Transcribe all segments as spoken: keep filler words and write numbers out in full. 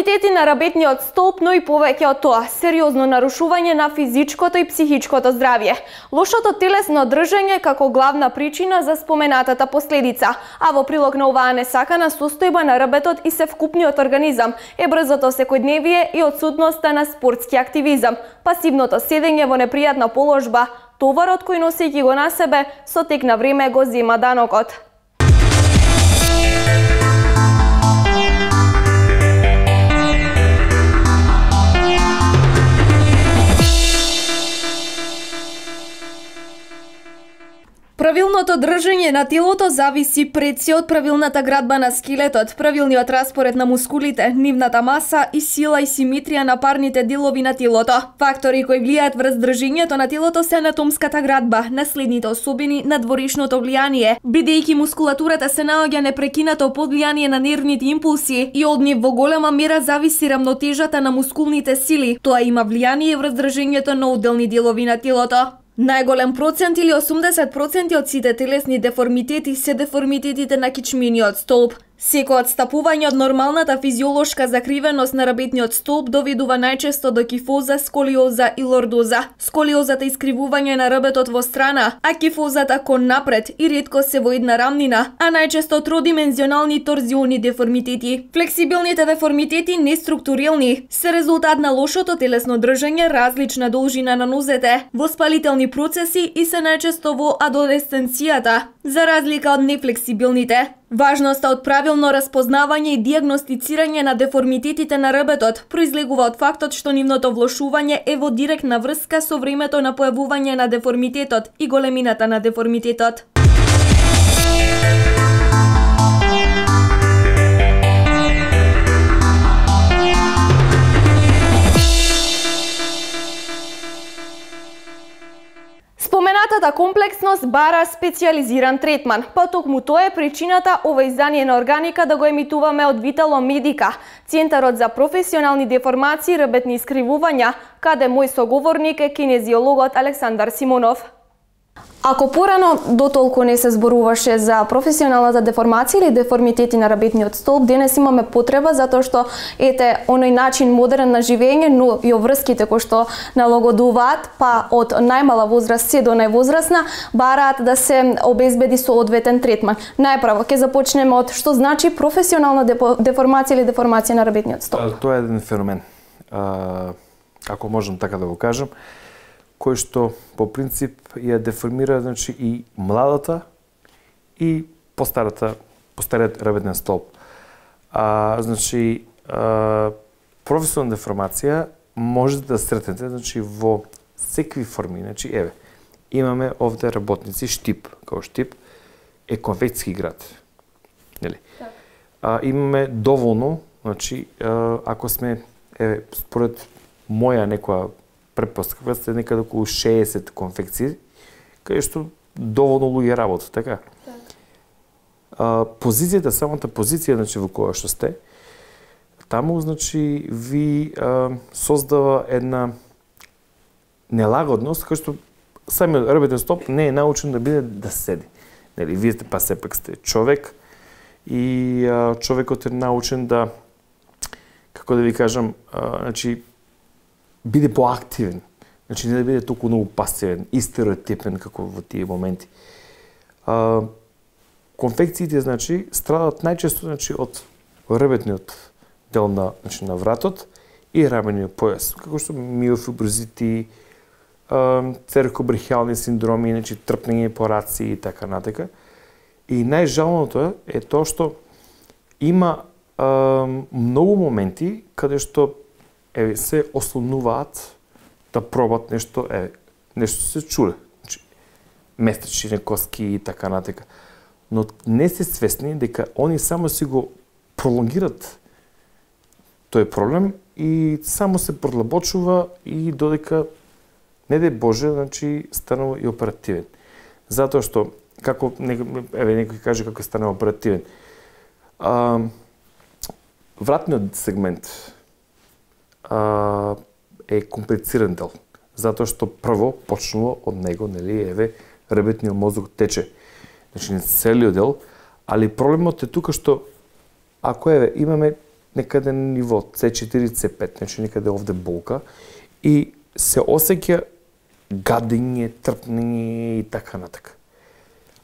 Деформитети на работниот столб, но и повеќе од тоа, сериозно нарушување на физичкото и психичкото здравје. Лошото телесно држање како главна причина за споменатата последица, а во прилог на оваа несакана состојба на работот и севкупниот организам е брзото секојдневие и отсутноста на спортски активизам, пасивното седење во непријатна положба, товарот кој носејќи го на себе, со тек на време го зема данокот. Правилното држање на телото зависи пред се од правилната градба на скелетот, правилниот распоред на мускулите, нивната маса и сила и симетрија на парните делови на телото. Фактори кои влијаат врз држењето на телото се анатомската градба, наследните особини, надворешното влијание, бидејќи мускулатурата се наоѓа непрекинато под влијание на нервните импулси и од нив во голема мера зависи рамнотежата на мускулните сили. Тоа има влијание врз држењето на одделни делови на телото. Најголем процент или осумдесет проценти од сите телесни деформитети се деформитетите на кичмениот столб. Секој отстапување од нормалната физиолошка закривеност на работниот столб доведува најчесто до кифоза, сколиоза и лордоза. Сколиозата е искривување на ребетот во страна, а кифозата кон напред и ретко се во една рамнина, а најчесто тродимензионални торзиони деформитети. Флексибилните деформитети неструктурилни се резултат на лошото телесно држање, различна должина на нозете, воспалителни процеси и се најчесто во адолесценцијата, за разлика од нефлексибилните. Важноста од правилно распознавање и дијагностицирање на деформитетите на ребетот произлегува од фактот што нивното влошување е во директна врска со времето на појавување на деформитетот и големината на деформитетот. Споменатата комплексност бара специјализиран третман, па токму тоа е причината ова издание на Органика да го емитуваме од Витало Медика, Центарот за професионални деформации и работни искривувања, каде мој соговорник е кинезиологот Александар Симонов. Ако порано дотолку не се зборуваше за професионалната деформација или деформитети на работниот столб, денес имаме потреба затоа што ете оној начин модерен на живење, но и врските кои што налагодуваат, па од најмала возраст се до највозрасна, бараат да се обезбеди соодветен третман. Најпрво ќе започнеме од што значи професионална деформација или деформација на работниот столб. Тоа е еден феномен, а, ако можам така да го кажам, кој што по принцип ја деформира, значи, и младата и постарата, постариот работен столб. А, значи, а, професионална деформација може да сретнете, значи, во секви форми. Значи, еве, имаме овде работници штип, како штип е конфекцијски град. Нели? Так. А, имаме доволно, значи, а, ако сме, еве, според моја некоја предпоставка сте некаде околу шеесет конфекции, каде што доволно луѓе работат, така? Да. А, позицијата, самата позиција, значи, во која што сте, таму, значи, ви а, создава една нелагодност, кај што самиот работен столб не е научен да биде да седи. Нели, вие сте па сепак сте човек и а, човекот е научен да, како да ви кажам, а, значи, биде поактивен, значи не да биде толку многу пасивен и стереотипен како во тие моменти. А, конфекциите, значи, страдат најчесто, значи, од ребетниот дел на, значи, на вратот и рамениот појас, како што миофиброзити, церкобрахиални синдроми, значи, трпнење по раци и така натака. И најжалното е тоа што има а, многу моменти каде што еве, се ослонуваат да пробат нешто, еве, нешто се чуле. Значи, местечни коски и така натака. Но не се свесни дека они само си го пролонгират тој проблем и само се продлабочува и додека, не дај Боже, значи, станува и оперативен. Затоа што, како, еве, некој каже како станува оперативен, а, вратниот сегмент А, е комплициран дел, затоа што прво почнува од него, нели, еве, ребетниот мозок тече. Значи, не целиот дел, али проблемот е тука што ако еве имаме некаде на ниво С четири, С пет, значи некаде овде болка и се осеќа гадење, трпнење и така натака.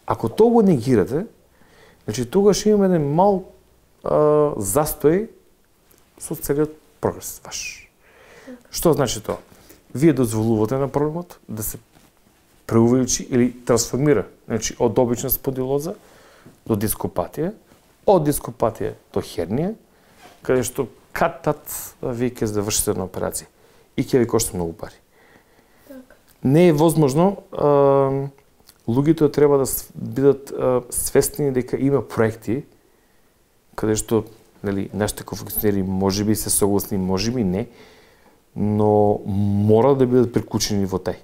Ако тоа го негирате, значи тогаш имаме еден мал а, застој со целиот прогрес ваш. Што значи тоа? Вие дозволувате на проблемот да се преувеличи или трансформира, значи од обична спондилоза до дископатија, од дископатија до хернија, каде што кат-тат вие ќе завршите на операција и ќе ви кошта многу пари. Так. Не е возможно, а, луѓето треба да бидат а, свесни дека има проекти каде што, нели, нашите конфекционери можеби се согласни, можеби не, но мора да бидат приклучени во тај.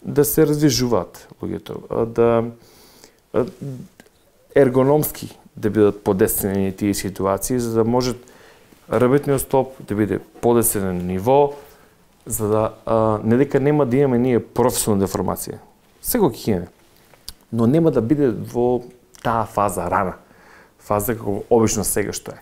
Да се развижуваат луѓето, да ергономски да бидат подесени тие ситуации, за да може работниот столб да биде подесен на ниво, за да а, не дека нема да имаме ние професионална деформација. Секој ќе имаме, но нема да биде во таа фаза рана, фаза како обично сега што е.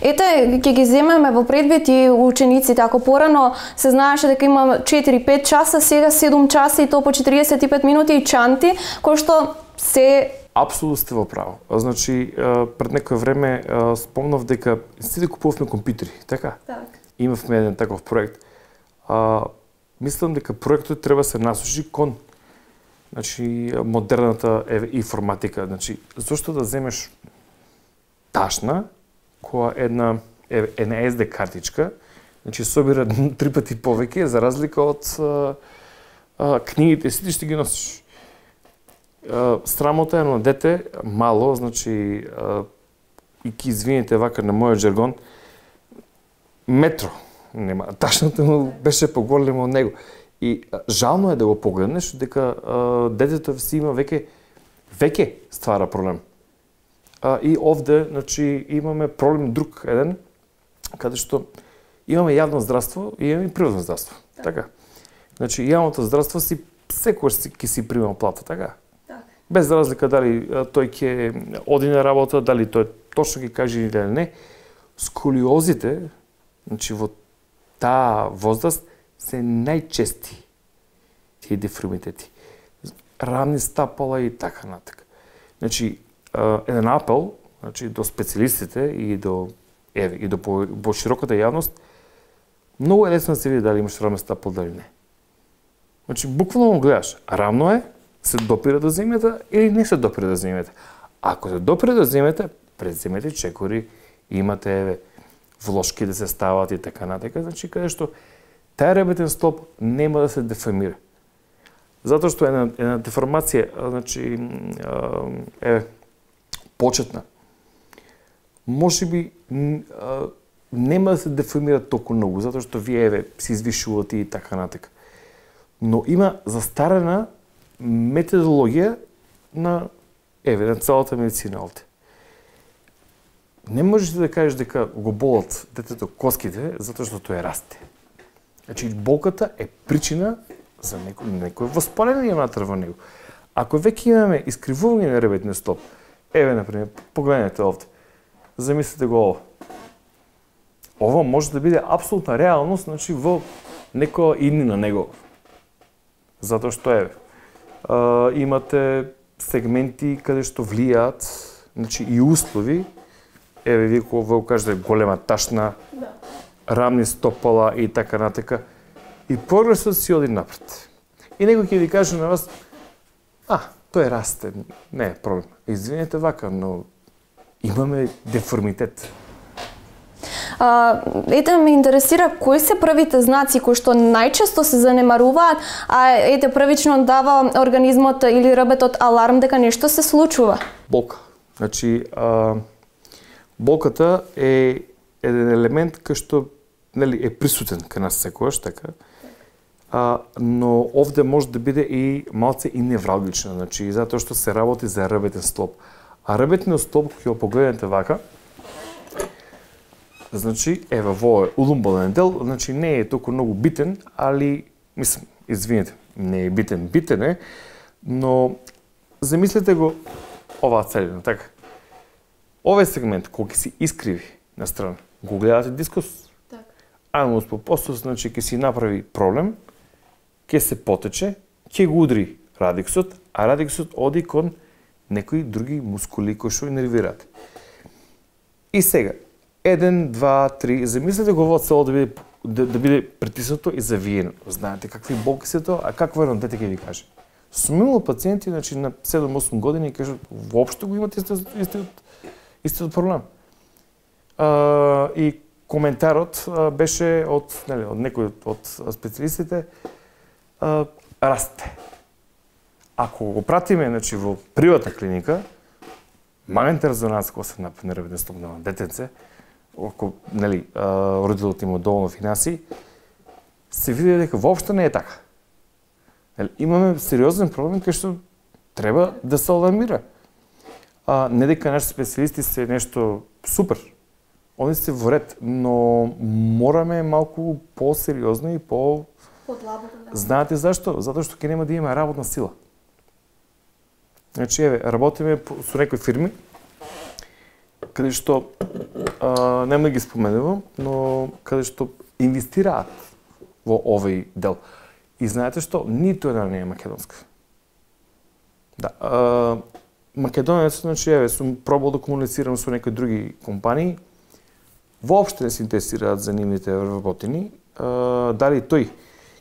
Ете, ќе ги земеме во предвид и учениците. Ако порано се знаеше дека има четири-пет часа, сега седум часа и то по четириесет и пет минути и чанти, кој што се... Апсолутно сте во право. Значи, пред некој време спомнав дека сите купувавме компјутери, така? Так. Имавме еден таков проект. А, мислам дека проектот треба се насочи кон, значи, модерната информатика. Значи, зошто да земеш ташна, која една една ес ди картичка, значи собира три пати повеќе за разлика од а, а, книгите, сите што ги носиш. А, срамота е на дете мало, значи а, и ки извините вака на мојот жаргон, метро нема. Ташната му беше поголема од него. И а, жално е да го погледнеш дека а, детето си има веќе веќе ствара проблем. А, и овде, значи, имаме проблем друг еден, каде што имаме јавно здравство и имаме и приватно здравство. Так. Така. Значи, јавното здравство си секогаш си ќе си прима плата, така? Так. Без разлика дали тој ќе оди на работа, дали тој точно ќе каже или не. Сколиозите, значи во таа возраст се најчести тие деформитети. Рамни стапала и така натака. Значи, еден апел, значи, до специјалистите и до еве и до по, по широката јавност, многу е лесно да се види дали имаш рамен стапал дали не. Значи, буквално го гледаш, рамно е, се допира до земјата или не се допира до земјата. Ако се допира до земјата, пред земјата чекори, имате еве влошки да се стават и така натака, значи каде што тај работен столб нема да се деформира. Затоа што една една деформација, значи еве почетна, може би нема да се деформира толку многу, затоа што вие еве се извишувате и така натака. Но има застарена методологија на еве на целата медицина овде. Не можеш да кажеш дека го болат детето коските затоа што тоа расте. Значи болката е причина за некој некој воспаление внатре во него. Ако веќе имаме искривување на ребетниот столб, еве, например, погледнете овде. Замислете го ово. Ово може да биде апсолутна реалност, значи, во некоја иднина него. Затоа што, еве, а, имате сегменти каде што влијаат, значи, и услови. Еве, вие кога го кажете голема ташна, да. Рамни стопала и така натака. И прогресот си оди напред. И некој ќе ви каже на вас, а, тој расте, не е проблем. Извинете вака, но имаме деформитет. А, ете, ме интересира кои се првите знаци кои што најчесто се занемаруваат, а ете првично дава организмот или ребетот аларм дека нешто се случува. Болка. Значи, а, болката е еден елемент кој што, нели, е присутен кај нас секогаш, така. А, но овде може да биде и малце и невралгично, значи затоа што се работи за ребетен столб. А ребетниот столб кога го погледнете вака, значи еве во улумбален дел, значи не е толку многу битен, али мислам, извинете, не е битен, битен е, но замислете го оваа целина, така. Овој сегмент кој ќе се искриви на страна, го гледате дискус. Така. Анус по постус, значи ќе си направи проблем, ќе се потече, ќе го удри радиксот, а радиксот оди кон некои други мускули кои што инервираат. И сега, еден, два, три, замислете го во цело да биде, да, да биде притиснато и завиено. Знаете какви болки се тоа, а какво едно дете ќе ви каже? Сум имал пациенти, значи на седум-осум години, кажат, воопшто го имате истиот, истиот, истиот проблем. А, и коментарот а, беше од, нели, од некој од специјалистите, а, расте. Ако го пратиме, значи, во приватна клиника, магнетна резонанца кога се направи нервен стоп на детенце, ако, нели, а, родителот има доволно финанси, се види дека воопшто не е така. Имаме сериозен проблем кај што треба да се алармира. А, не дека нашите специјалисти се нешто супер. Они се во ред, но мораме малку по-сериозно и по... Подлабоко, да. Знаете зашто? Затоа што ќе нема да има работна сила. Значи, еве, работиме со некои фирми, каде што, а, нема да ги споменувам, но каде што инвестираат во овој дел. И знаете што? Ниту една не е македонска. Да. А, македонец, значи, еве, сум пробал да комуницирам со некои други компании, воопшто не се интересираат за нивните работини, а, дали тој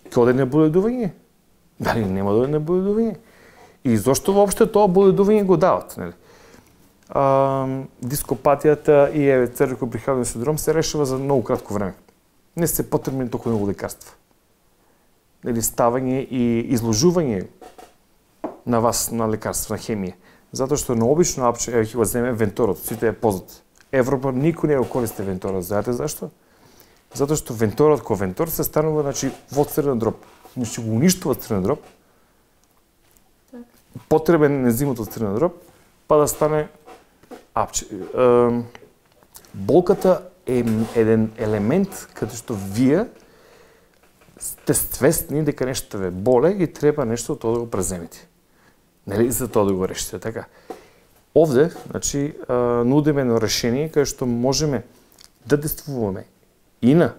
ќе оде на боледување, дали нема да оде на боледување. И зошто воопшто тоа боледување го дават, нели? А, дископатијата и еве цервико-прихрамниот синдром се решава за многу кратко време. Не се потребни толку многу лекарства. Или ставање и изложување на вас на лекарства, на хемија. Затоа што на обично апче, еве ќе го земе венторот, сите е познат. Европа никој не го користи венторот, знаете зашто? Затоа што венторот ко вентор се станува, значи, во црвен дроб. Значи го уништува црвен дроб. Потребен ензимот од црвен дроб, па да стане апче. Е, болката е еден елемент каде што вие сте свесни дека нешто ве боле и треба нешто од тоа да го преземете. Нели за тоа да го решите, така? Овде, значи, нудиме едно решение каде што можеме да действуваме и на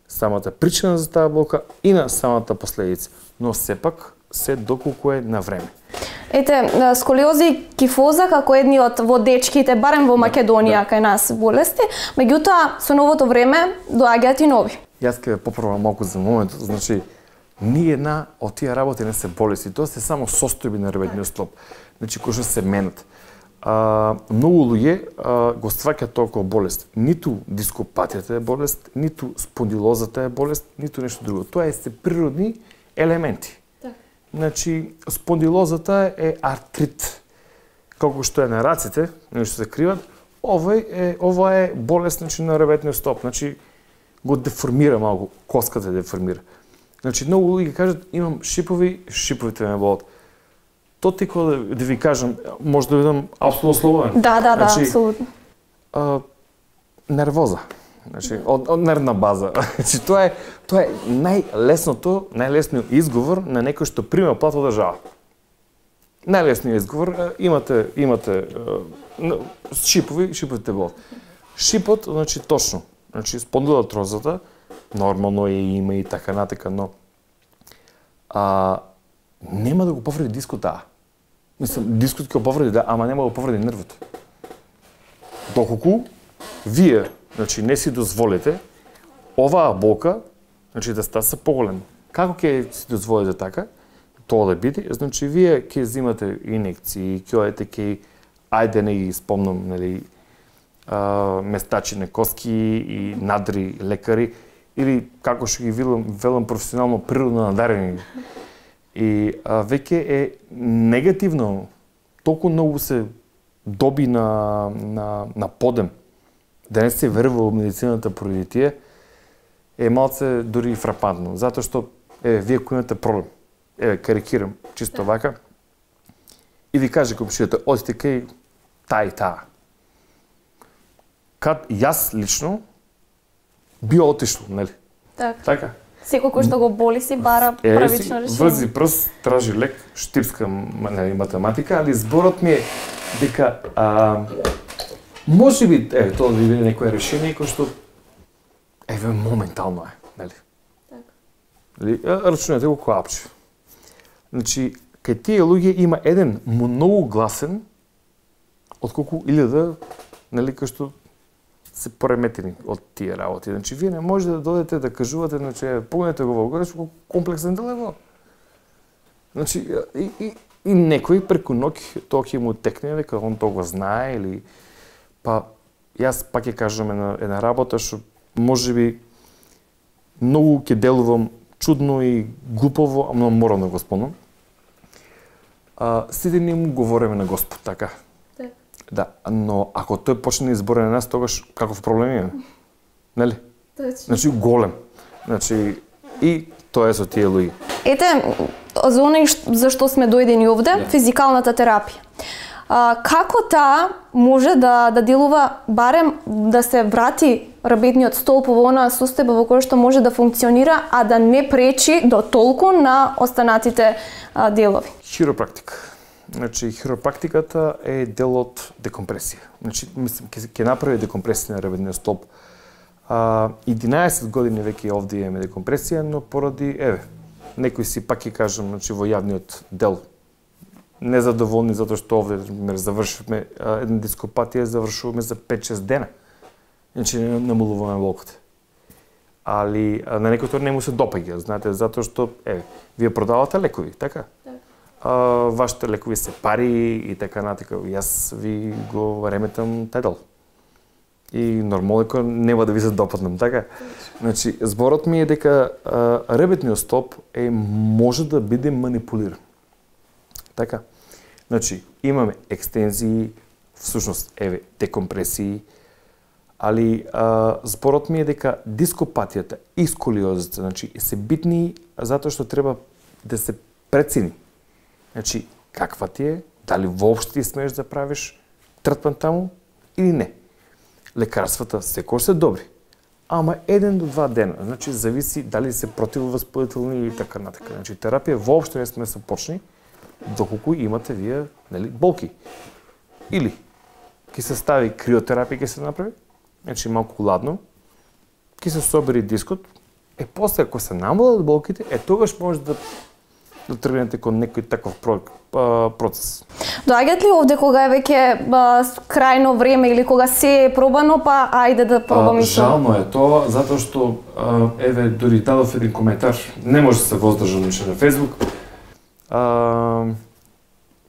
самата причина за таа болка и на самата последица, но сепак се доколку е на време. Ете, сколиоза и кифоза како едни од во дечките, барем во Македонија, да, кај нас болести, меѓутоа со новото време доаѓаат и нови. Јас ќе попробам малку за моментот, значи, ни една од тие работи не се болести, тоа се само состојби на нервниот столб, значи кои што се менат. А, многу луѓе а, го сваќаат толку болест. Ниту дископатијата е болест, ниту спондилозата е болест, ниту нешто друго. Тоа е се природни елементи. Так. Значи, спондилозата е артрит. Колку што е на раците, нешто се криват, ова е ова е болест, значи, на ребетниот столб. Значи, го деформира малку, коската деформира. Значи, многу луѓе кажат, имам шипови, шиповите ме болат. То ти кога да, да ви кажам, може да видам апсолутно слободен. Да, да, да, значи, апсолутно. А, нервоза. Значи, од, од нервна база. Значи, тоа е тоа е најлесното, најлесниот изговор на некој што прима плата од држава. Најлесниот изговор, имате имате шипови, шиповите болат. Шипот, значи точно, значи спондилоартрозата, нормално е има и така натака, но а, нема да го повреди дискот, да. Мислам, дискот ќе го повреди, да, ама нема да го повреди нервот. Доколку вие, значи, не си дозволите оваа болка, значи, да стаса поголема. Како ќе си дозволите така, тоа да биде, значи, вие ќе взимате инекции, ќе одите ќе, ајде не ги спомнам, нели, а, местачи коски и надри лекари, или како што ги велам, велам професионално природно надарени. И а, веќе е негативно, толку многу се доби на, на, на подем, да не се верува во медицината поради тие, е малце дури фрапантно. Затоа што, еве, вие кој имате проблем, еве, карикирам, чисто вака, и ви каже комшијата, одите кај таа и таа. Кад јас лично би отишло, нели? Так. Така. Секој кој што го боли си бара е, правично решение. Врзи прст, тражи лек, штипска, нели, математика, али зборот ми е дека а, може би, е, тоа да биде некое решение кој што еве моментално е, нели? Така. Нели, рачунете го коапче. Значи, кај тие луѓе има еден многу гласен отколку илјада, нели, кои што се пореметени од тие работи. Значи, вие не можете да додете да кажувате, значи, погледнете го во горе, што комплексен дел е во. Значи, и, и, и некој преку ноќ тоа ќе му текне дека он тоа го знае или па јас пак ќе кажам една, една работа што можеби многу ќе делувам чудно и глупово, но морам да го спомнам. А, сите ние му говориме на Господ, така? Так. Да, но ако тој почне да избори на нас, тогаш каков проблем има? Нели? Точно. Значи голем. Значи и тоа е со тие луѓе. Ете, за оној зашто сме дојдени овде, Yeah. физикалната терапија. А, како таа може да да делува барем да се врати работниот столб во онаа состојба во која што може да функционира, а да не пречи до толку на останатите а, делови? Хиропрактика. Значи хиропрактиката е дел од декомпресија. Значи мислам ќе ќе направи декомпресија на работниот столб. А, единаесет години веќе овде имаме декомпресија, но поради еве некои си пак ќе кажам, значи во јавниот дел незадоволни затоа што овде например завршивме а, една дископатија, завршуваме за пет-шест дена. Значи не намалуваме болката. Али а, на некој тоа не му се допаѓа, знаете, затоа што еве вие продавате лекови, така? Так. А, вашите лекови се пари и така натака. Јас ви го реметам тај дел. И нормално нема да ви се допаднам, така? Значи, зборот ми е дека а, работниот столб е може да биде манипулиран. Така? Значи, имаме екстензии, всушност, еве, декомпресии, али а, зборот ми е дека дископатијата и сколиозата, значи, се битни затоа што треба да се прецени. Значи, каква ти е, дали воопшто ти смееш да правиш третман таму или не. Лекарствата секој се добри, ама еден до два дена, значи зависи дали се противовоспалителни и така натака. Значи терапија воопшто не сме да се почни доколку имате вие, нели, болки. Или ќе се стави криотерапија, ќе се направи, значи малку ладно, ќе се собери дискот, е после ако се намалат болките, е тогаш може да да тргнете кон некој таков процес. Доаѓат ли овде кога е веќе крајно време или кога се е пробано, па ајде да пробаме и жално е тоа, затоа што а, еве дури дадов еден коментар, не може да се воздржам више на Facebook. А,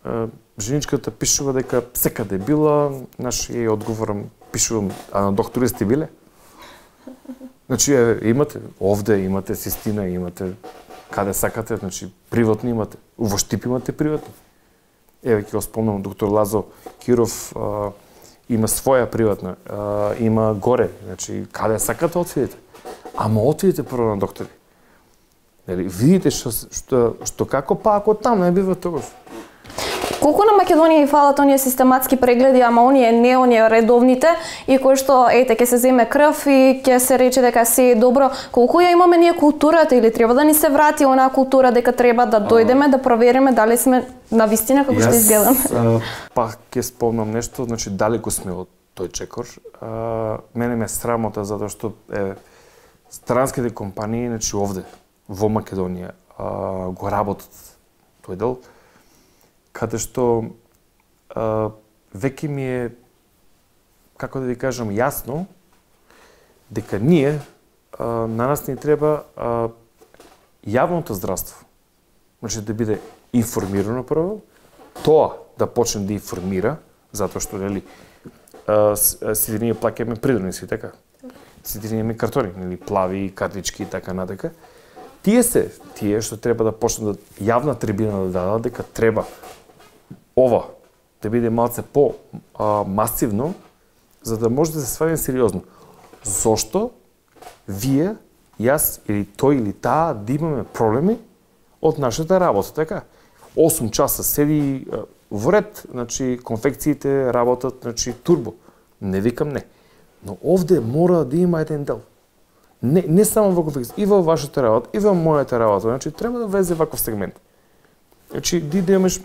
а, женичката пишува дека секаде била, наш ја одговорам, пишувам, а на доктори сте биле? Значи еве имате овде имате Систина, имате каде сакате, значи приватни имате, во Штип имате приватни. Еве ќе го спомнам, доктор Лазо Киров а, има своја приватна, а, има горе, значи каде сакате отидете. Ама отидете прво на доктори. Нели видите што што што како па ако таму не бива тогаш. Колку на Македонија и фалат оние систематски прегледи, ама оние не оние редовните и кои што ете ќе се земе крв и ќе се рече дека се е добро, колку ја имаме ние културата или треба да ни се врати онаа култура дека треба да дојдеме да провериме дали сме навистина како што изгледаме? Јас пак ќе спомнам нешто, значи далеку сме од тој чекор. А, мене ме срамота затоа што е странските компании, значи овде во Македонија а, го работат тој дел, каде што а, веќе ми е, како да ви кажам, јасно дека ние, а, на нас ни треба а, јавното здравство. Значи да биде информирано прво, тоа да почне да информира, затоа што нели сите ние плаќаме придорници, така? Сите ние имаме картони, нели плави, картички и така натака. Тие се тие што треба да почнат да јавна трибина да дадат дека треба ова да биде малце по а, масивно, за да може да се свади сериозно. Зошто вие, јас или тој или таа да имаме проблеми од нашата работа, така? осум часа седи а, во ред, значи конфекциите работат, значи турбо. Не викам не. Но овде мора да има еден дел. Не, не само во конфекција, и во вашата работа, и во мојата работа. Значи треба да влезе ваков сегмент. Значи ти да имаш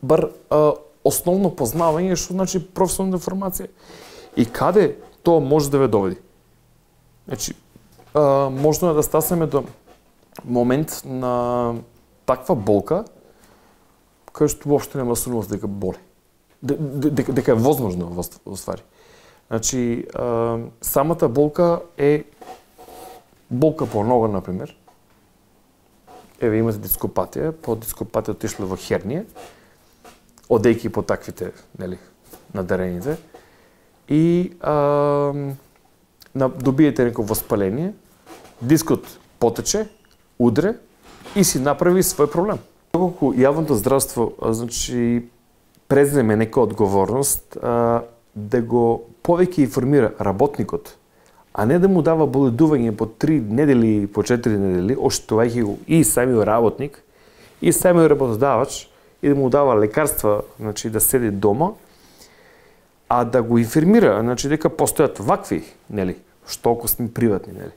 бар а, основно познавање што значи професионална информација и каде тоа може да ве доведи. Значи а, можно е да стаснеме до момент на таква болка која што воопшто нема сумност дека боли. Дека, дека е возможно во ствари. Значи, а, самата болка е болка по нога, например. Еве имате дископатија, по дископатија отишле во хернија, одејќи по таквите, нели, надарените. И а, на, добиете неко воспаление, дискот потече, удре и си направи свој проблем. Доколку јавното здравство, значи, преземе нека одговорност а, да го повеќе информира работникот, а не да му дава боледување по три недели, по четири недели, оштетувајќи го и самиот работник, и самиот работодавач, и да му дава лекарства, значи, да седи дома, а да го информира, значи, дека постојат вакви, нели, што ако сме приватни, нели.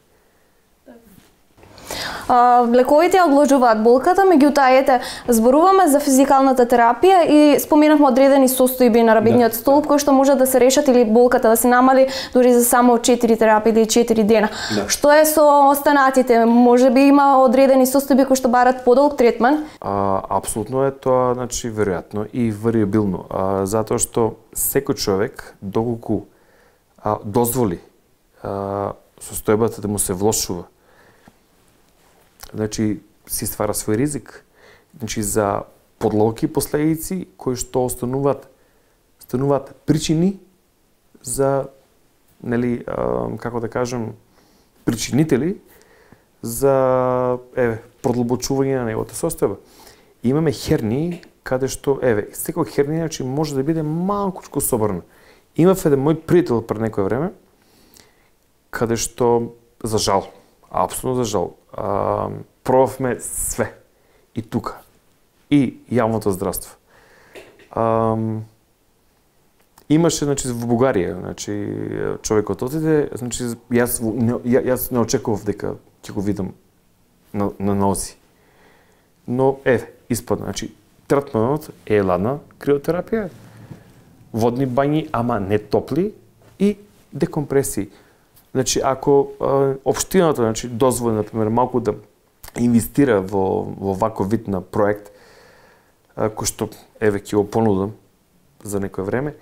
А, лековите одложуваат болката, меѓутоа ете зборуваме за физикалната терапија и споменавме одредени состојби на рабидниот столб кои што може да се решат или болката да се намали дури за само четири терапии или четири дена. Да. Што е со останатите? Можеби има одредени состојби кои што барат подолг третман? А, апсолутно е тоа, значи, веројатно и вариабилно, а, затоа што секој човек доколку а, дозволи а, состојбата да му се влошува, значи, си ствара свој ризик, значи, за подлоки последици кои што остануваат, стануваат причини за, нели, а, како да кажем, причинители за, еве, продлабочување на неговата состојба. Имаме хернии каде што, еве, секој хернија, значи, може да биде малкучко собрана. Имав еден мој пријател пред некој време, каде што, за жал, апсолутно за жал, а, пробавме све. И тука. И јавното здравство. А, имаше, значи, во Бугарија, значи, човекот отиде, значи, јас не, јас не очекував дека ќе го видам на, на нози. Но, еве, испадна, значи, третманот е ладна криотерапија, водни бањи, ама не топли, и декомпресии. Значи, ако а, општината, значи, дозволи, например, малку да инвестира во, во ваков вид на проект, а, кој што, еве, ќе го понудам за некој време,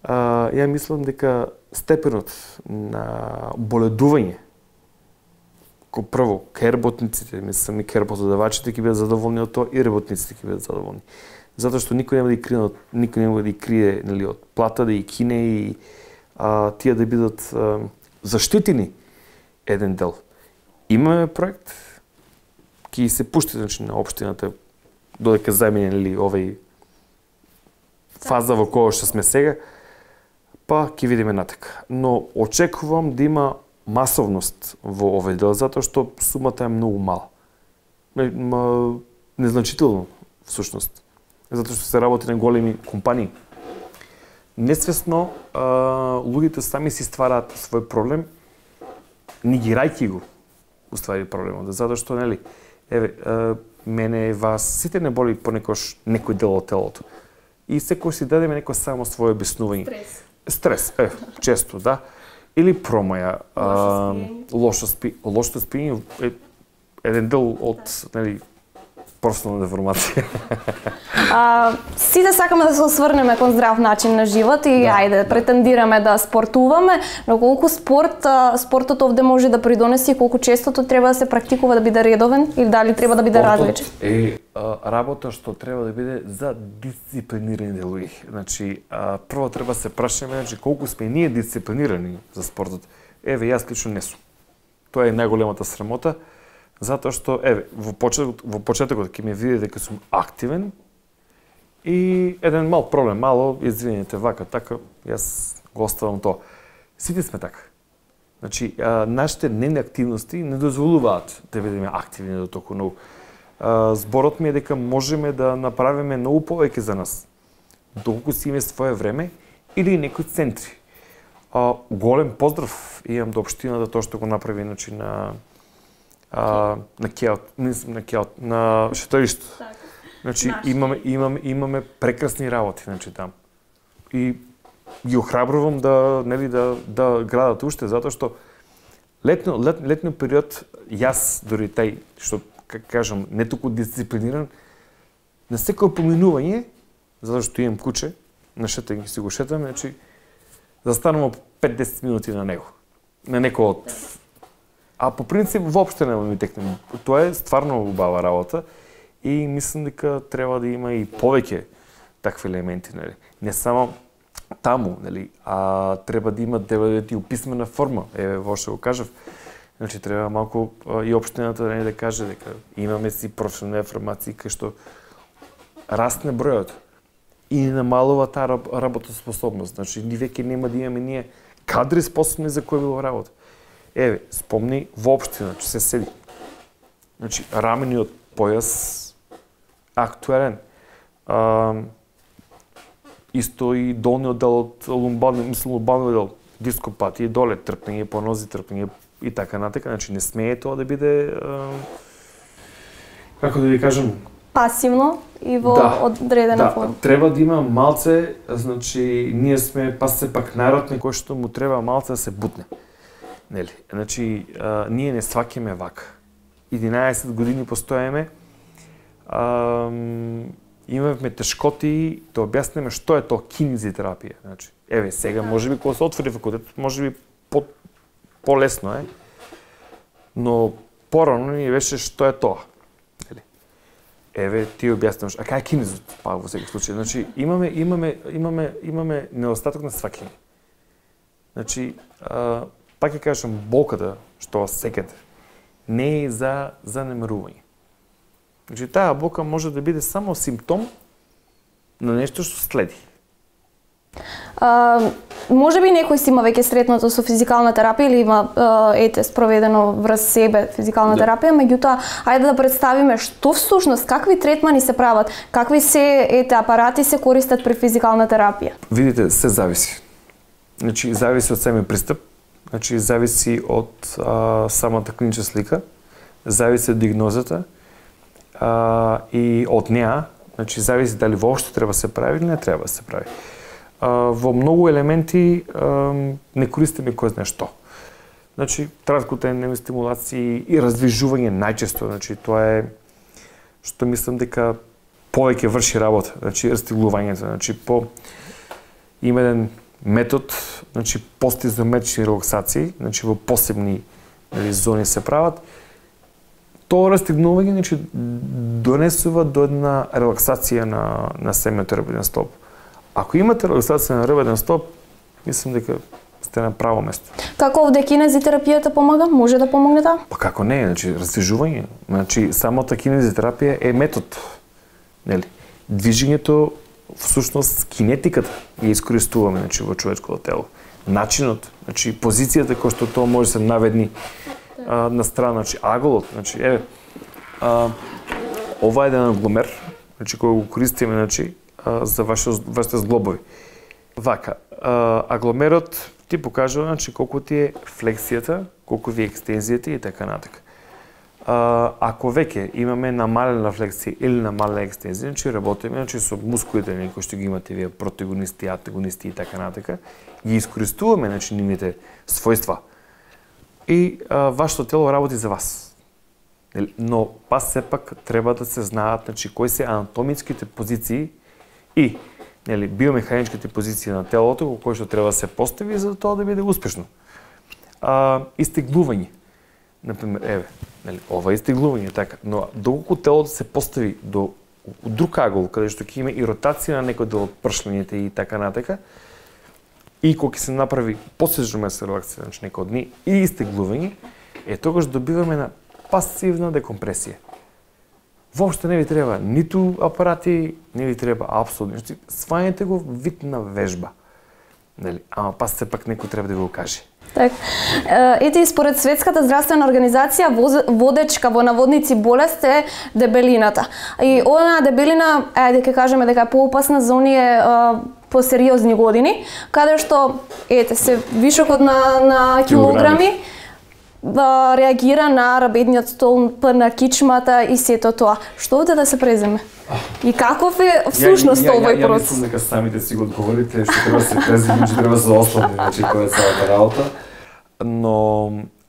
а, ја мислам дека степенот на боледување, кој прво, кај работниците, мислам и кај работодавачите ќе бидат задоволни од тоа, и работниците ќе бидат задоволни. Затоа што никој нема да ги крие, никој нема да ги крие, нели, од плата, да ги кине и а, тие да бидат а, заштитени еден дел. Имаме проект, ќе се пушти, значи, на општината додека замине, нели, овај фаза во која што сме сега, па ќе видиме натака. Но очекувам да има масовност во овој дел, затоа што сумата е многу мала. Незначително, всушност. Затоа што се работи на големи компании. Несвесно, а, луѓето сами си ствараат свој проблем, негирајќи го, уствари проблемот. Затоа што, нели, еве, а, мене, вас, сите не боли понекош некој дел од телото. И секој си дадеме некој само своје обяснување. Стрес. Стрес, е, често, да. Или промаја, лошо спиење. Лошо спиење е еден дел од, нели, професионална деформација. А, сите сакаме да се осврнеме кон здрав начин на живот и да, ајде, да. претендираме да спортуваме, но колку спорт, спортот овде може да придонеси и колку честото треба да се практикува да биде редовен или дали треба да биде различен? Е а, работа што треба да биде за дисциплинирани луѓе. Значи, а, прво треба да се прашаме, значи, колку сме ние дисциплинирани за спортот. Еве, јас лично не сум. Тоа е најголемата срамота. Затоа што, еве, во почетокот, во почетокот ќе ме видите дека сум активен и еден мал проблем, мало, извинете, вака, така, јас го оставам тоа. Сите сме така. Значи, а, нашите дневни активности не дозволуваат да бидеме активни до толку многу. А, зборот ми е дека можеме да направиме многу повеќе за нас, доколку си имаме своје време или некои центри. А, голем поздрав имам до општината тоа што го направи, значи, на А, на Кеот, не на Кеот, на шеторишто. Значи, имаме, имаме, имаме прекрасни работи, значи, там. И ги охрабрувам да, нели, да, да градат уште, затоа што Летно, лет, летно период, јас дори тај, што кажам, не толку дисциплиниран, на секој поминување, затоа што имам куче, на шетање си го шетам, значи, застанувам пет до десет минути на него. На некој од... А по принцип, воопште нема ми текне. Тоа е стварно убава работа и мислам дека треба да има и повеќе такви елементи, нели? Не само таму, нели, а треба да има да бидат и писмена форма. Еве, во што го кажав. Значи треба малку и општината да не да каже дека имаме си професионални формации кај што расне бројот и не намалува таа работоспособност. Значи ни веќе нема да имаме ние кадри способни за кој било работа. Еве, спомни воопшто, значи се седи. Значи рамениот појас актуелен. А, исто и долниот дел од лумбарниот, мислам лумбарниот дел, дископатија доле, трпнење по нози, трпнење и така натака. Значи не смее тоа да биде а, како да ви кажам, пасивно и во да, одредена да, форма. Треба да има малце, значи ние сме па се пак народ на кој што му треба малце да се бутне. Нели? Значи а, ние не сваќаме вака. единаесет години постоеме. А, имавме тешкоти да објасниме што е тоа кинезитерапија. Значи, еве сега можеби кога се отвори факултет, можеби по полесно е. Но порано ни беше што е тоа. Нели? Еве ти објаснуваш, а кај е кинезот? Па во секој случај, значи имаме имаме имаме имаме недостаток на сваќање. Значи, а, пак ќе кажам, болката што вас секете не е за занемарување. Значи таа болка може да биде само симптом на нешто што следи. А, може би некој си има веќе сретнато со физикална терапија или има ете спроведено врз себе физикална да. терапија, меѓутоа ајде да представиме што всушност, какви третмани се прават, какви се ете апарати се користат при физикална терапија. Видите, се зависи. Значи зависи од самиот пристап, значи зависи од а, самата клинична слика, зависи од диагнозата а, и од неа, значи зависи дали воопшто треба да се прави или не треба да се прави. А, во многу елементи а, не користиме кој знае што. Значи транскутенни стимулации и раздвижување најчесто, значи тоа е што мислам дека повеќе врши работа, значи растиглувањето, значи по има еден метод, значи постизометрични релаксации, значи во посебни нели, зони се прават. Тоа растигнување значи донесува до една релаксација на на семејот ребрен столб. Ако имате релаксација на ребрен столб, мислам дека сте на право место. Како овде кинезитерапијата помага? Може да помогне таа? Па како не, значи раздвижување. Значи самата кинезитерапија е метод. Нели? Движењето всушност кинетиката ја искористуваме значи во човечкото тело. Начинот, значи позицијата кој што тоа може да се наведни а, на страна, значи аголот, значи еве а, ова е еден агломер, значи кој го користиме значи а, за вашите вашите зглобови. Вака, а, агломерот ти покажува значи колку ти е флексијата, колку ви е екстензијата и така натака. А, ако веќе имаме намалена флексија или намалена екстензија, значи работиме значи со мускулите кои што ги имате вие протагонисти, антагонисти и така натака, ги искористуваме значи нивните својства. И а, вашето тело работи за вас. Но па сепак треба да се знаат значи кои се анатомиските позиции и нели биомеханичките позиции на телото кои што треба да се постави за тоа да биде успешно. А, истеглување. Например, еве, нели, ова е истеглување, така, но доколку телото се постави до друг агол, каде што ќе има и ротација на некој дел од пршлењите и така натака, и кога ќе се направи посежно место релаксија, значи некој дни, и истеглување, е тогаш добиваме на пасивна декомпресија. Воопшто не ви треба ниту апарати, не ви треба апсолутно, значи свањате го вид на вежба. Нели, ама па сепак некој треба да го каже. Так. Ете и според Светската здравствена организација водечка во наводници болест е дебелината. И оваа дебелина, ајде ќе кажеме дека е поопасна за оние по сериозни години, каде што ете се вишокот на на килограми да реагира на рабедниот столб, на кичмата и сето тоа. Што овде да се преземе? И каков е всушност овој процес? Ја мислам дека самите си го одговорите, што треба да се преземе, што треба да се ослабне, значи која е целата работа. Но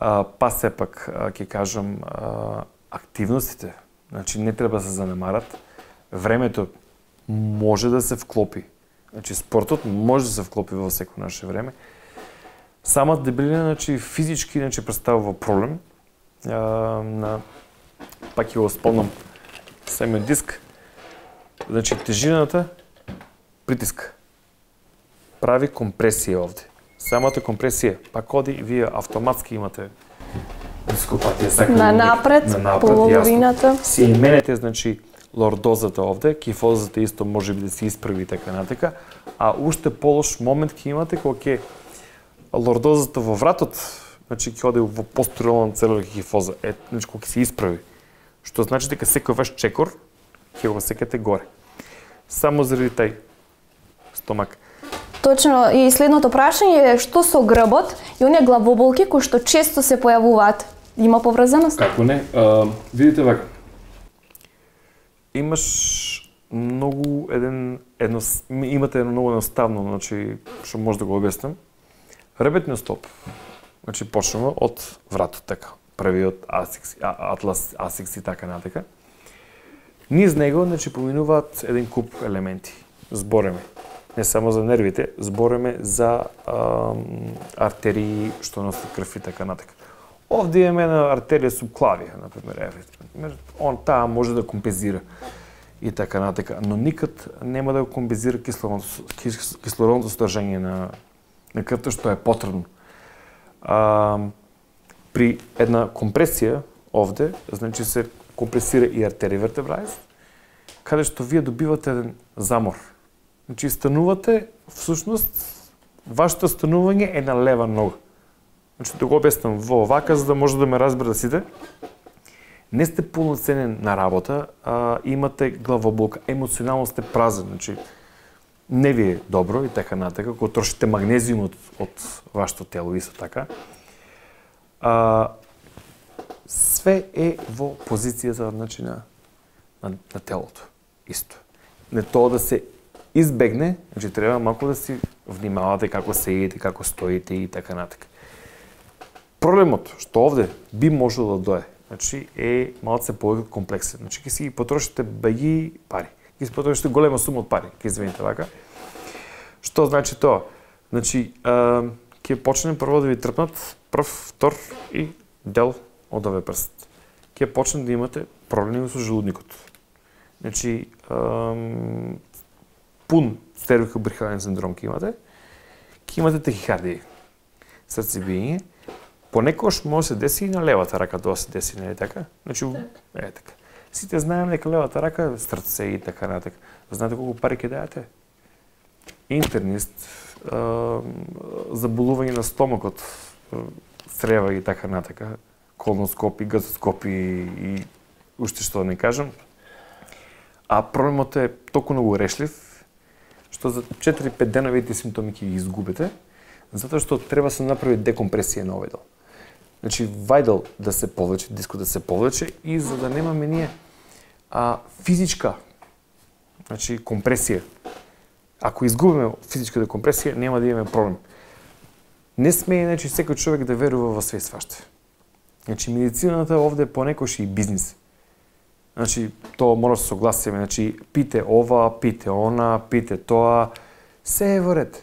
а, а, па сепак ќе кажам а, активностите, значи не треба да се занемарат. Времето може да се вклопи. Значи спортот може да се вклопи во секој наше време. Самата дебелина, значи физички, значи представува проблем. А, на пак ќе го спомнам самиот диск. Значи тежината притиска. Прави компресија овде. Самата компресија, пак оди, вие автоматски имате дископатија. На напред, на половината. Си именете, значи, лордозата овде, кифозата исто може би да се исправи и така натека, а уште полош момент ќе имате кога ќе лордозата во вратот, значи ќе оде во постериорна целула кифоза, е, значи кога ќе се исправи. Што значи дека секој ваш чекор ќе го секете горе. Само заради тај стомак. Точно, и следното прашање е што со грбот и оние главоболки кои што често се појавуваат. Има поврзаност? Како не? А, видите вака. Имаш многу еден едно имате едно многу едноставно, значи што може да го објаснам. Ребетниот стоп. Значи почнува од вратот така, првиот асикс, атлас, асикс и така натека. Низ него значи поминуваат еден куп елементи. Збореме не само за нервите, збореме за ам, артерии што носат крв и така натека. Овде имаме една артерија субклавија, например, еве. Он таа може да компензира и така натека, но никад нема да компензира кислородното, кислородното содржање на на крвта што е потребно. А, при една компресија овде, значи се компресира и артерија вертебралис, каде што вие добивате еден замор. Значи станувате, всушност, вашето станување е на лева нога. Значи да го објаснам во овака, за да може да ме разберат сите. Не сте полноценен на работа, а имате главоболка, емоционално сте празен, значи не ви е добро и така натека, кога трошите магнезиумот од вашето тело исто така. А, све е во позицијата значи, на, на, на телото. Исто. Не тоа да се избегне, значи треба малку да си внимавате како се едите, како стоите и така натека. Проблемот што овде би можело да дое, значи е малце повеќе комплексен. Значи ќе си потрошите баји пари. Ќе си потрошите голема сума од пари, ќе извините вака. Што значи тоа? Значи ќе почне прво да ви трпнат прв, втор и дел од овој прст. Ќе почне да имате проблеми со желудникот. Значи ам, пун стервикобрахиален синдром ќе имате, ќе имате тахикардија, срцебиење. Понекогаш може да се деси и на левата рака тоа се деси, не е така? Значи, е така. Сите знаеме дека левата рака е срце и така натака. Знаете колку пари ќе дајате? Интернист, заболување на стомакот, црева и така натака, колоноскопи, газоскопи и уште што да не кажам. А проблемот е толку многу решлив, што за четири-пет дена видите симптоми ќе ги изгубите, затоа што треба да се направи декомпресија на овој дел. Значи, вајдел да се повлече, дискот да се повлече и за да немаме ние а, физичка значи, компресија. Ако изгубиме физичка декомпресија, нема да имаме проблем. Не смее значи, секој човек да верува во све и сваште. Значи, медицината овде понекогаш и бизнис. Значи, тоа мора да се согласиме. Значи, пите ова, пите она, пите тоа, се е во ред.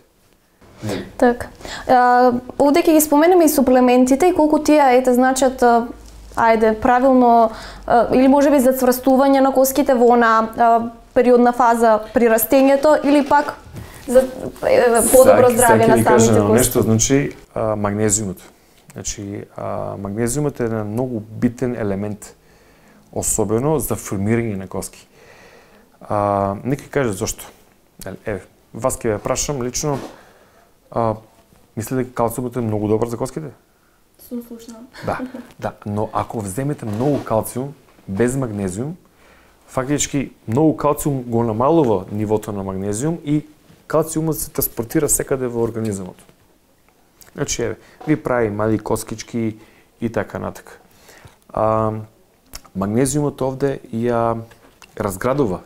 Так. А, овде ќе ги споменеме и суплементите и колку тие ете значат ајде правилно а, или можеби за цврстување на коските во она периодна фаза при растењето или пак за е, подобро здравје на самите кости. Нешто значи а, магнезиумот. Значи а, магнезиумот е еден многу битен елемент, особено за формирање на коски. А, некој каже зошто. Еве, вас ќе ве прашам лично. А, мислите дека калциумот е многу добар за коските? Сум слушнала. Да, да, но ако вземете многу калциум без магнезиум, фактички многу калциум го намалува нивото на магнезиум и калциумот се транспортира секаде во организмот. Значи, еве, ви прави мали коскички и така натака. А, магнезиумот овде ја разградува,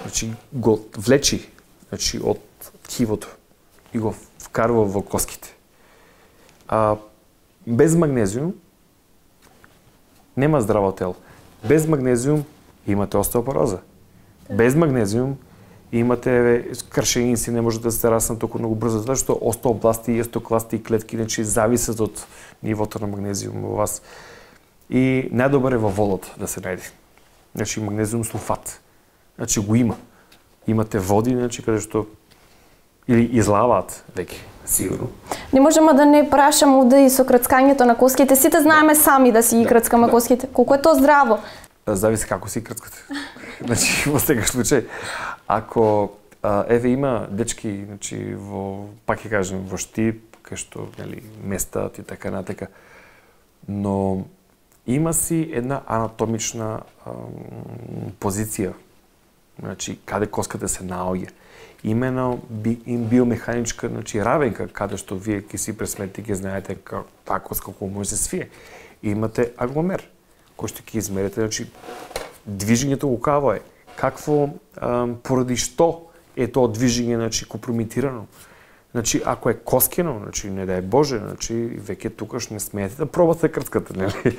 значи го влечи, значи од ткивото и го вкарува во коските. А без магнезиум нема здраво тело. Без магнезиум имате остеопороза. Без магнезиум имате кршеинци, не можете да се раснат толку многу брзо, затоа што остеобласти и остеокласти и клетки значи зависат од нивото на магнезиум во вас. И најдобар е во водата да се најде. Значи магнезиум сулфат. Значи го има. Имате води, значи каде што или излаваат веќе, сигурно. Не можеме да не прашаме да и со крцкањето на коските. Сите знаеме сами да си ги крцкаме да. коските. Колку е тоа здраво? Зависи како си крцкате. Значи во секој случај, ако а, еве има дечки, значи во пак ќе кажем во Штип, кај што нели местат и така натака. Но има си една анатомична ам, позиција. Значи каде коската се наоѓа. Имено би, им биомеханичка, значи равенка, каде што вие ќе си пресметите, ќе знаете како таа коска колку може се свие. Имате агломер, кој што ќе измерите, значи движењето лукаво е. Какво ам, поради што е тоа движење, значи компрометирано. Значи ако е коскено, значи не дај Боже, значи веќе тукаш не смеете да пробате крцката, нели?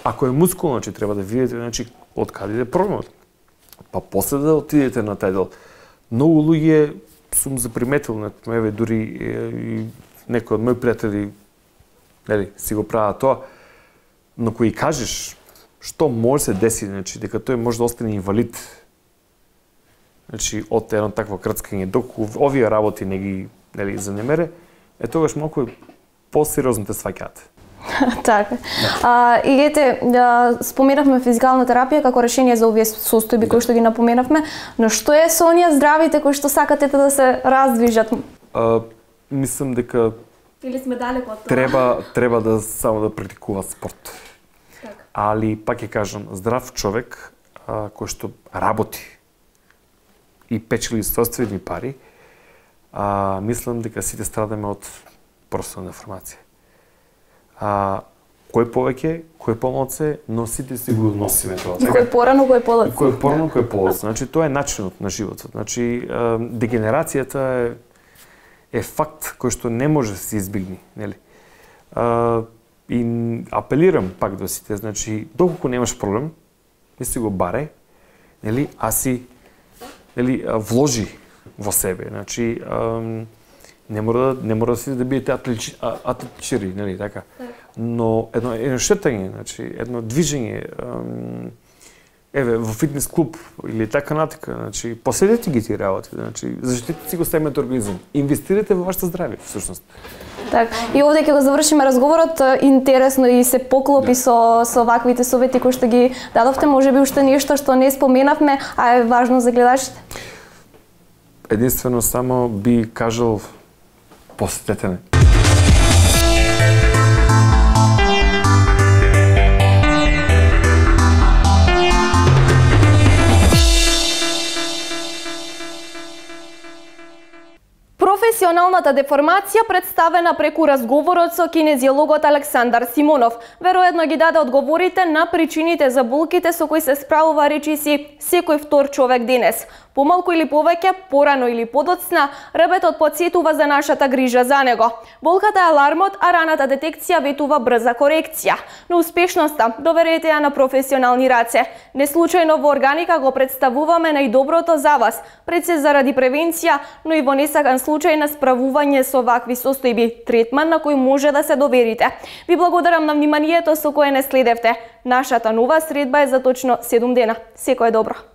Ако е мускулно, значи треба да видите, значи од каде иде проблемот. Па после да отидете на тај дел. Многу луѓе сум заприметил, еве дури и некои од мои пријатели, нели, си го прават тоа, но кој кажеш што може се деси, значи дека тој може да остане инвалид. Значи од едно такво крцкање, доколку овие работи не ги, нели, занемере, е тогаш малку посериозно те сваќаат. Така. А, и ете, да, споменавме физикална терапија како решение за овие состојби кои што ги напоменавме, но што е со оние здравите кои што сакате да се раздвижат? А, мислам дека или сме далеко од тоа? Треба треба да само да практикува спорт. Так. Али пак ќе кажам, здрав човек а, кој што работи и печели собствени пари, а, мислам дека сите страдаме од проста деформација. А, кој повеќе, кој помалце, но сите си го носиме тоа. Кој порано, кој полоцно. Кој порано, кој полоцно. Значи тоа е начинот на животот. Значи дегенерацијата е е факт кој што не може да се избегне, нели? А, и апелирам пак до сите, значи доколку немаш проблем, не си го баре, нели, а си нели вложи во себе. Значи ам, не мора да не мора да си да бидете атлетичари, нели така. Но едно едно шетање, значи едно движење, ем, еве во фитнес клуб или така натака, значи последете ги тие работи, значи заштитете си го семејниот организам, инвестирате во вашето здравје всушност. Така. И овде ќе го завршиме разговорот, интересно и се поклопи да. со со ваквите совети кои што ги дадовте, можеби уште нешто што не споменавме, а е важно за гледачите. Единствено само би кажал посетете ме. Професионалната деформација представена преку разговорот со кинезиологот Александар Симонов. Веројатно ги даде одговорите на причините за болките со кои се справува речиси секој втор човек денес. Помалку или повеќе, порано или подоцна, ребетот потсетува за нашата грижа за него. Болката е алармот, а раната детекција ветува брза корекција. Но успешноста доверете ја на професионални раце. Не случајно во Органика го представуваме најдоброто за вас, пред се заради превенција, но и во несакан случај на справување со вакви состојби, третман на кој може да се доверите. Ви благодарам на вниманието со кое не следевте. Нашата нова средба е за точно седум дена. Секое добро.